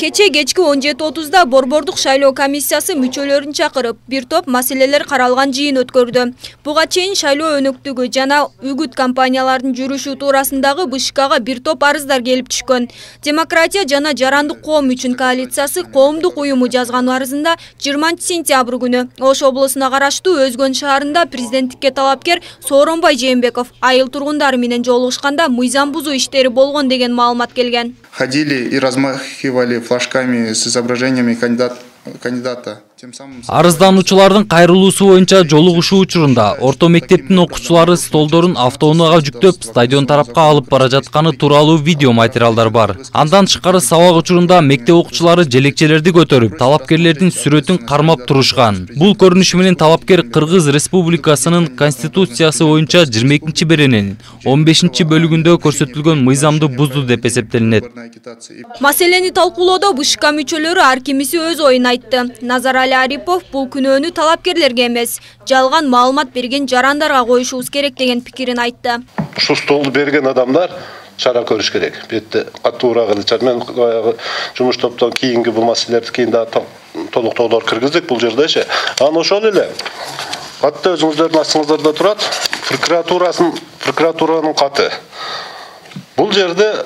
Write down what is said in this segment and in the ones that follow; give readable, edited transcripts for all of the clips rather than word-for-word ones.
Кече кечки 17:30 Борбордук шайлоо комиссиясы мүчөлөрүн чакырып, бир топ маселелер каралган жыйын өткөрдү. Буга чейин шайлоо өнөктүгү жана үгүт компаниялардын жүрүшү туурасындагы БШКга бир топ арыздар келип түшкөн. Демократия жана жарандык коом үчүн коалициясы коомдук уюму жазган арызында 20 сентябрь күнү Ош облусуна караштуу Өзгөн шаарында президенттикке талапкер Сооронбай Жээнбеков айыл тургундары менен жолугушканда мыйзам бузуу иштери болгон деген маалымат келген. Ходили и размахивали флажками с изображениями кандидата. Арыздануучулардын кайрылуусу боюнча жолугушуу учурунда орто мектептин окуучулары столдорун автоунаага жүктөп стадион тарапка алып бара жатканы тууралуу видео материалдар бар. Андан тышкары сабак учурунда мектеп окуучулары желекчелерди көтөрүп, талапкерлердин сүрөтүн кармап турушкан. Бул көрүнүшү менен талапкер Кыргыз Республикасынын Конституциясы боюнча 22-беренин 15-бөлүгүндө көрсөтүлгөн мыйзамды бузду деп эсептелинет. Маселени талкуулоодо БШК мүчөлөрү ар кимиси өз оюн айтты. Назарали Арипов бул күнөөнү талапкерлерге эмес, жалган маалымат берген жарандарга коюшубуз керек деген пикирин айтты. Ушу столду берген адамдар чара көрүш керек. Бетте катуураак эле мен жумуш топтон кийинки бул маселелерди кийин да толуктоолор киргиздик бул жердечи. Анан ошол эле катты өзүңүздөрдүн астыңыздарда турат. Прокуратуранын каты. Бул жерде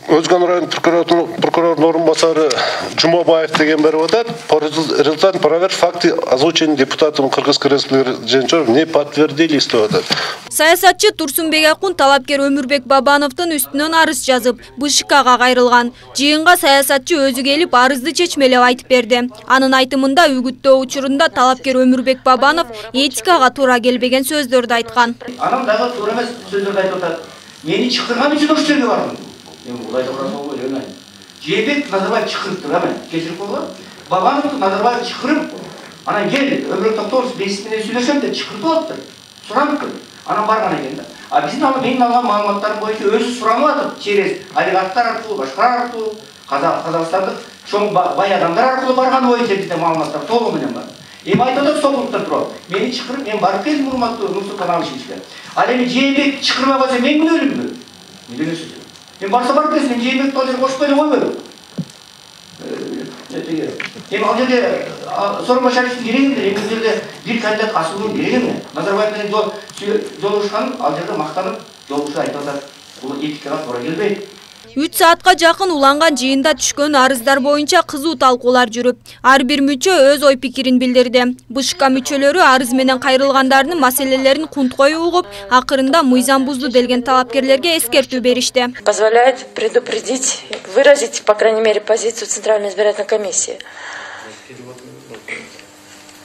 Өзгөн район прокурорунун орун басары Жумабаев деген берип атат. По результатам проверки факты озвучены депутатом Кыргызской Республики Женчоров не подтвердились деп атат. Саясатчы Турсунбек Акун талапкер Өмүрбек Бабановдун үстүнөн арыз жазып, БШКга кайрылган. Жыйынга саясатчы өзү келип арызды чечмелеп айтып берди. Анын айтымында үгүттөө учурунда талапкер Өмүрбек Бабанов этикага туура келбеген сөздөрдү айткан. Анан дагы туура эмес сөздөрдү айтып атат. Мени чакырган үчүн ошол жерге бардым. Жээнбек Назарбаев чакырып тур, кечирип койгон. Бабановду Назарбаев чакырып, анан кел, Өмүрбек Токтогулов бесик менен сүйлөшөм деп чакырып алыптыр. Суранып, анан барган экен да. А биздин менин алган маалыматтарым боюнча өзү суранып атып, через олигархтар аркылуу, башкалар аркылуу, казакстандык чоң бай адамдар аркылуу барган боюнча бизде маалыматтар толугу менен бар. Эми айтып атат соклукта туруп, мени чакырып, мен барып келдим урматтуу Нурсултан Абишевичке. Ал эми Жээнбек чакырбай койсо мен күнөөлүүмүн? Эмне сөз? Мен барса барып келсем, Жээнбекти ал жерге кошпой эле койбойм. Эми ал жерде Сооронбай Шариповдун кереги эмне? Эми бул жерде бир кандидат асуунун кереги эмне? Назарбаев менен жолугушкан, ал жерде мактанып жолугушуу айтып атат. Бул этикага туура келбейт. 3 саатка жакын уланган жыйында түшкөн арыздар боюнча кызуу талкуулар жүрүп, ар бир мүчө өз ой пикирин билдирди. БШК мүчөлөрү арыз менен кайрылгандардын маселелерин кунткой угуп, акырында мыйзам бузду делген талапкерлерге эскертүү беришти. Позволяет предупредить, выразить, по крайней мере, позицию Центральной избирательной комиссии.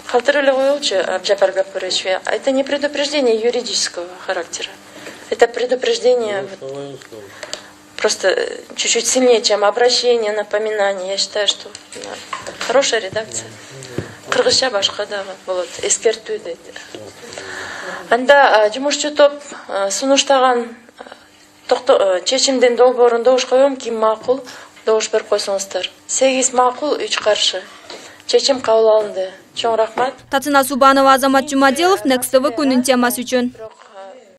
Халтырылы коелчу, Абджапар Гапурович, это не предупреждение юридического характера. Это предупреждение просто чуть-чуть сильнее, чем обращение, напоминание. Я считаю, что хорошая редакция. Кыргызча башка дагы болот, эскертүү дейт. Анда жумушчу топ сунуштаган чечимдин долбоорун добуш коем, ким макул, добуш берип койсоңуздар. 8 макул, 3 каршы. Чечим кабыл алынды. Чоң рахмат. Татына Субанова, Азамат Жумаделов, Next TV күнүн темасы үчүн.